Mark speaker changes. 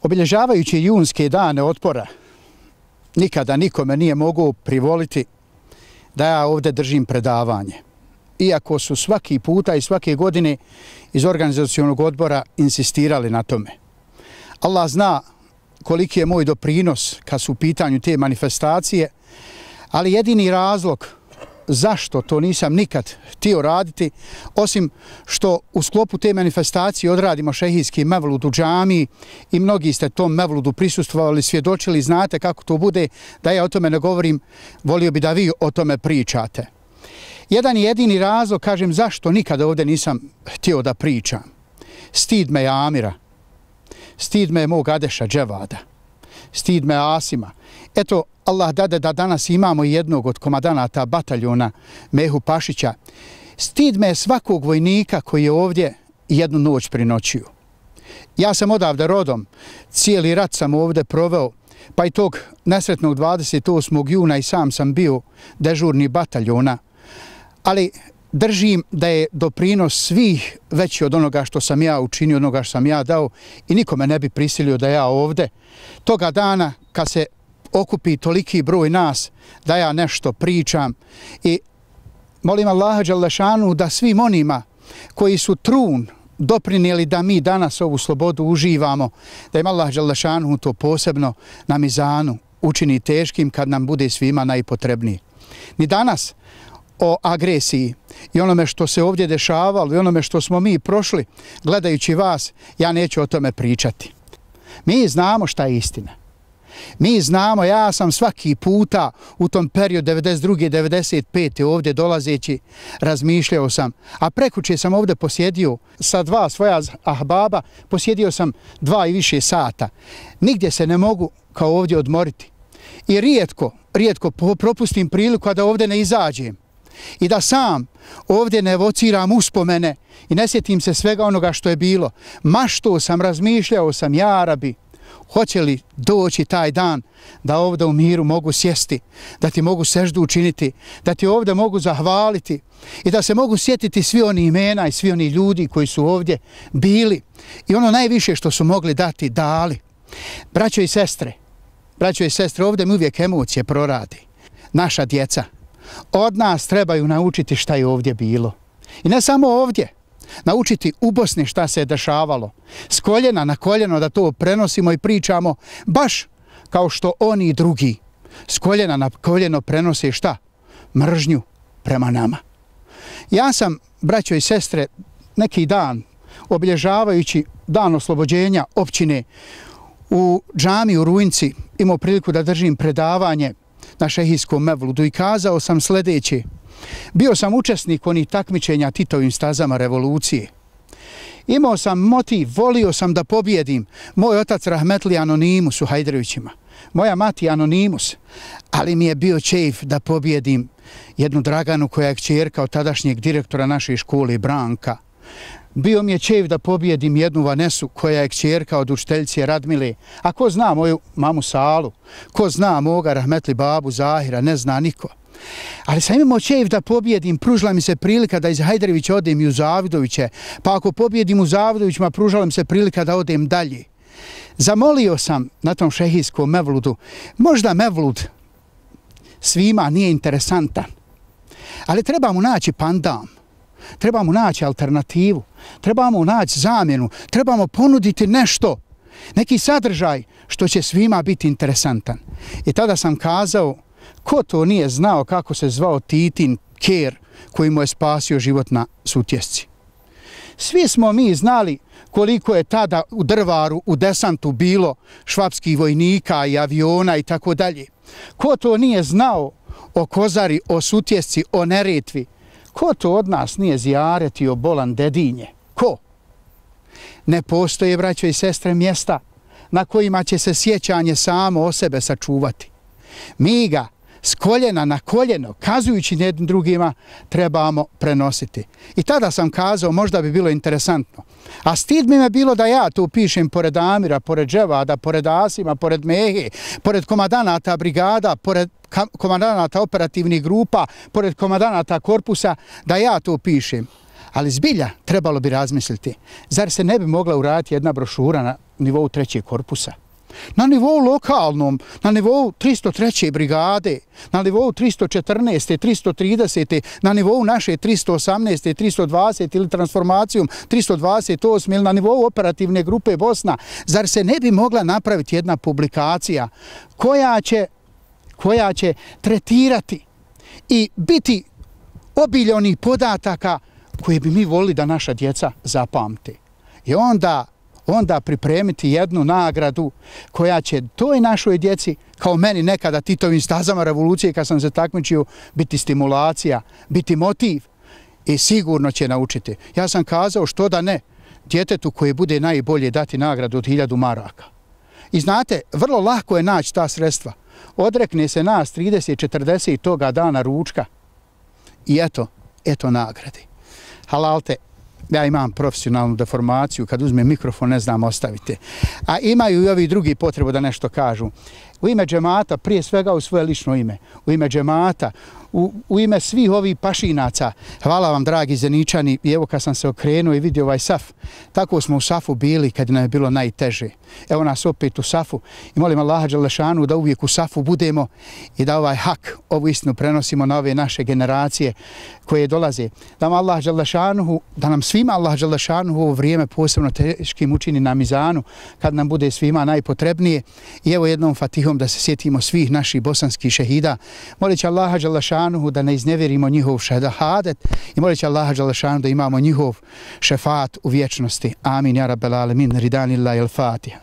Speaker 1: Obilježavajući junske dane otpora, nikada nikome nije mogao privoliti da ja ovdje držim predavanje. Iako su svaki puta i svake godine iz organizacionog odbora insistirali na tome. Allah zna koliki je moj doprinos kad su u pitanju te manifestacije, ali jedini razlog zašto to nisam nikad htio raditi, osim što u sklopu te manifestacije odradimo šehijski mevlud u džamiji i mnogi ste tom mevludu prisustvovali, svjedočili, znate kako to bude, da ja o tome ne govorim, volio bi da vi o tome pričate. Jedan jedini razlog, kažem, zašto nikada ovdje nisam htio da pričam. Stid me je Amira, stid me je mog Adeša Dževada, stid me Asima. Eto, Allah dade da danas imamo jednog od komadanata bataljona Mehu Pašića. Stid me je svakog vojnika koji je ovdje jednu noć prinoćio. Ja sam odavde rodom, cijeli rat sam ovdje proveo, pa i tog nesretnog 28. juna i sam sam bio dežurni bataljona, ali držim da je doprinos svih veći od onoga što sam ja učinio, onoga što sam ja dao i nikome ne bi prisilio da ja ovdje toga dana kad se okupi toliki broj nas da ja nešto pričam i molim Allaha dželešanu da svim onima koji su trun doprinijeli da mi danas ovu slobodu uživamo, da im Allah dželešanu to posebno na mizanu učini teškim kad nam bude svima najpotrebniji. Ni danas o agresiji i onome što se ovdje dešavalo i onome što smo mi prošli gledajući vas, ja neću o tome pričati. Mi znamo šta je istina. Mi znamo, ja sam svaki puta u tom periodu 92. 95. ovdje dolazeći razmišljao sam, a prekuće sam ovdje posjedio sa dva svoja ahbaba, posjedio sam 2 i više sata. Nigdje se ne mogu kao ovdje odmoriti. I rijetko propustim priliku da ovdje ne izađem i da sam ovdje ne evociram uspomene i ne sjetim se svega onoga što je bilo. Maštao sam, razmišljao sam, ja Rabi, hoće li doći taj dan da ovdje u miru mogu sjesti, da ti mogu seždu učiniti, da ti ovdje mogu zahvaliti i da se mogu sjetiti svi oni imena i svi oni ljudi koji su ovdje bili i ono najviše što su mogli dati, dali. Braćo i sestre, ovdje mi uvijek emocije proradi. Naša djeca od nas trebaju naučiti šta je ovdje bilo. I ne samo ovdje. Naučiti u Bosni šta se je dešavalo. S koljena na koljeno da to prenosimo i pričamo baš kao što oni drugi s koljena na koljeno prenose šta? Mržnju prema nama. Ja sam, braćo i sestre, neki dan obilježavajući dan oslobođenja općine u džamiji u Rujnci imao priliku da držim predavanje na šehijskom mevludu i kazao sam sljedeće. Bio sam učesnik onih takmičenja Titovim stazama revolucije. Imao sam motiv, volio sam da pobjedim. Moj otac rahmetli Anonimus u Hajdrevićima, moja mati Anonimus, ali mi je bio čeif da pobjedim jednu Draganu koja je kćerka od tadašnjeg direktora naše škole Branka. Bio mi je čeif da pobjedim jednu Vanesu koja je kćerka od učiteljice Radmile. A ko zna moju mamu Salu? Ko zna moga rahmetli babu Zahira? Ne zna niko. Ali sam imao čeif da pobjedim, pružila mi se prilika da iz Hajdrevića odem i u Zavidoviće, pa ako pobjedim u Zavidovićima, pružila mi se prilika da odem dalje. Zamolio sam na tom šehijskom mevludu, možda mevlud svima nije interesantan, ali trebamo naći pandam, trebamo naći alternativu, trebamo naći zamjenu, trebamo ponuditi nešto, neki sadržaj što će svima biti interesantan. I tada sam kazao, ko to nije znao kako se zvao Titin ker koji mu je spasio život na Sutjesci? Svi smo mi znali koliko je tada u Drvaru, u desantu bilo švapskih vojnika i aviona i tako dalje. Ko to nije znao o Kozari, o Sutjesci, o Neretvi? Ko to od nas nije zijaretio Bolan Dedinje? Ko? Ne postoje, braćo i sestre, mjesta na kojima će se sjećanje samo o sebe sačuvati. Mi ga s koljena na koljeno, kazujući jednim drugima, trebamo prenositi. I tada sam kazao, možda bi bilo interesantno. A stid mi je bilo da ja to pišem pored Amira, pored Dževada, pored Asima, pored Mehe, pored komadanata brigada, pored komadanata operativnih grupa, pored komadanata korpusa, da ja to pišem. Ali zbilja trebalo bi razmisliti. Zar se ne bi mogla uraditi jedna brošura na nivou 3. korpusa? Na nivou lokalnom, na nivou 303. brigade, na nivou 314. 330. na nivou naše 318. 320. ili transformacijom 328. ili na nivou operativne grupe Bosna. Zar se ne bi mogla napraviti jedna publikacija koja će tretirati i biti obilje onih podataka koje bi mi volili da naša djeca zapamte. I onda pripremiti jednu nagradu koja će toj našoj djeci, kao meni nekada Titovim stazama revolucije kad sam se takmičio, biti stimulacija, biti motiv i sigurno će naučiti. Ja sam kazao što da ne, djetetu koje bude najbolje dati nagradu od 1000 maraka. I znate, vrlo lako je naći ta sredstva. Odrekne se nas 30-40 toga dana ručka i eto nagrade. Halalte, ja imam profesionalnu deformaciju, kad uzmem mikrofon ne znam ostavite. A imaju i ovi drugi potrebu da nešto kažu. U ime džemata, prije svega u svoje lično ime, u ime džemata, u ime svih ovih pašinaca, hvala vam dragi Zeničani, i evo kad sam se okrenuo i vidio ovaj saf, tako smo u safu bili kad nam je bilo najteže. Evo nas opet u safu i molim Allaha dželešanu da uvijek u safu budemo i da ovaj hak, ovu istinu prenosimo na ove naše generacije koje dolaze. Da nam svima Allah dželešanu ovo vrijeme posebno teškim učini na mizanu kad nam bude svima najpotrebnije. I evo jednom fatihom da se sjetimo svih naših bosanskih šehida. Molit će Allaha dželešanu da ne iznevjerimo njihov šehadet i molit će Allaha dželešanu da imamo njihov šefat u vječnosti. Amin, ja rabbel alemin, ridanillahi al-Fatiha.